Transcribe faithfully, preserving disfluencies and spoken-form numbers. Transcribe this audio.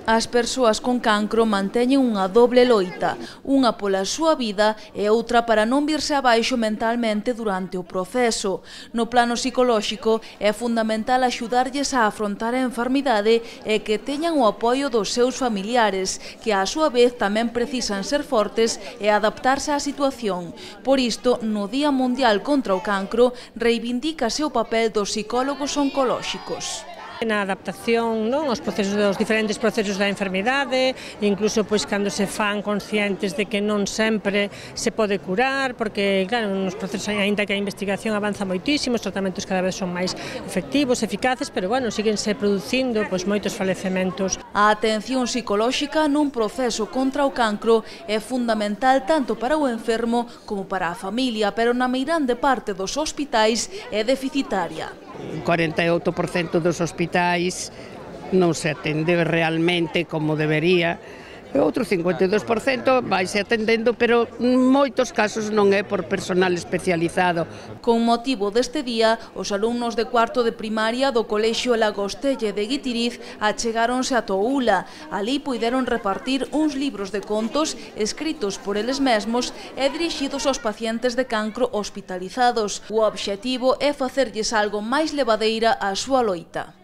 As persoas con cancro manteñen unha doble loita, unha pola súa vida e outra para non virse abaixo mentalmente durante o proceso. No plano psicolóxico é fundamental axudarlles a afrontar a enfermidade e que teñan o apoio dos seus familiares, que á súa vez tamén precisan ser fortes e adaptarse á situación. Por isto, no Día Mundial contra o Cancro, reivindícase o papel dos psicólogos oncolóxicos. Na adaptación, non, aos procesos dos diferentes procesos da enfermidade, incluso pois cando se fan conscientes de que non sempre se pode curar, porque claro, nos procesos aínda que a investigación avanza moitísimo, os tratamentos cada vez son máis efectivos, eficaces, pero bueno, síguense producindo pois moitos falecementos. A atención psicolóxica nun proceso contra o cancro é fundamental tanto para o enfermo como para a familia, pero na meirande parte dos hospitais é deficitaria. cuarenta e oito por cento dos hospitais non se atende realmente como debería. E outro cincuenta e dous por cento vaise atendendo, pero en moitos casos non é por personal especializado. Con motivo deste día, os alumnos de cuarto de primaria do Colexio Lagostelle de Guitiriz achegáronse a Toula. Alí puideron repartir uns libros de contos escritos por eles mesmos e dirixidos aos pacientes de cancro hospitalizados. O obxectivo é facerlles algo máis levadeira á súa loita.